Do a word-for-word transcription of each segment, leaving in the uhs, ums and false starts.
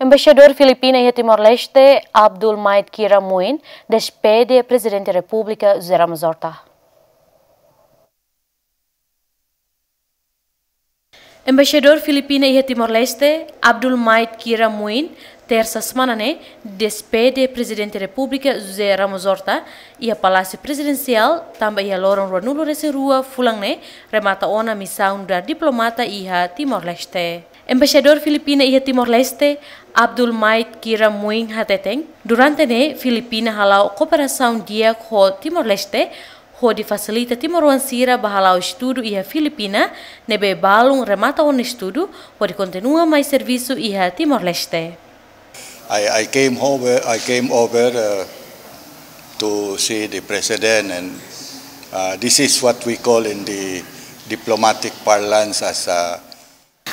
Embaixadór Filipina iha Timor-Leste, Abdul Maid Kiramuin, despede Prezidente Repúblika José Ramos Horta. Embaixadór Filipina iha Timor-Leste, Abdul Maid Kiramuin, tersa semana ne'e, despede Prezidente Repúblika José Ramos Horta iha Palásiu Prezidensiál, tanba iha loron ruanulu-resin-rua fulan ne'e remata ona misaun diplomata iha Timor-Leste. Embaixadór Filipina iha Timor-Leste, Abdul Maid Kiramuin hateten, durante ne'e Filipina hala'o kooperasaun di'ak ho Timor-Leste, hodi fasilita timoroan sira ba hala'o estudu iha Filipina, ne'ebé balun remata ona estudu, hodi kontinua mai servisu iha Timor-Leste. I, I came over, I came over, uh, to see the president, and, uh, this is what we call in the diplomatic parlance as a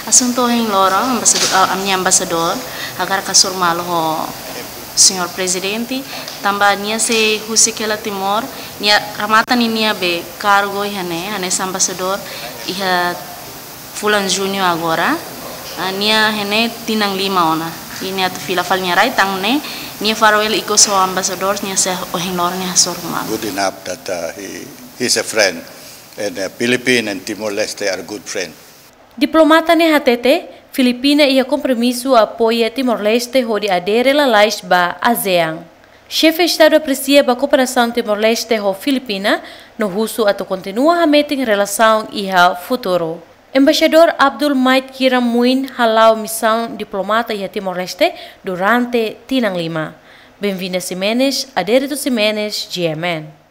Asuntu ohin loron, ambasadór, ah, ami-nia ambasadór, hakarak hasoru malu ho Señór Prezidente, tanba nia sei husik hela Timor, nia remata ninia be kargu iha ne'e, hanesan ambasadór, iha fulan Juñu agora, ah, nia iha ne'e tinan lima ona. I nia atu fila fali nia rai, tan ne'e, nia farwell ikus ho ambasadór, nia sei ohin loron nia hasoru malu. Good enough that, uh, he, he's a friend, and, uh, Philippine and Timor-Leste are good friends. Diplomata ne'e hatete, Filipina iha kompromisu apoia Timor-Leste hodi adere lalais ba ASEAN. Xefe Estadu apresia ba kooperasaun Timor-Leste ho Filipina, no husu atu kontinua hametin relasaun iha futuru. Embaixadór Abdul Maid Kiramuin hala'o misaun diplomata iha Timor-Leste durante tinan lima. Benvinda Ximenes, Adérito Ximenes, G M N.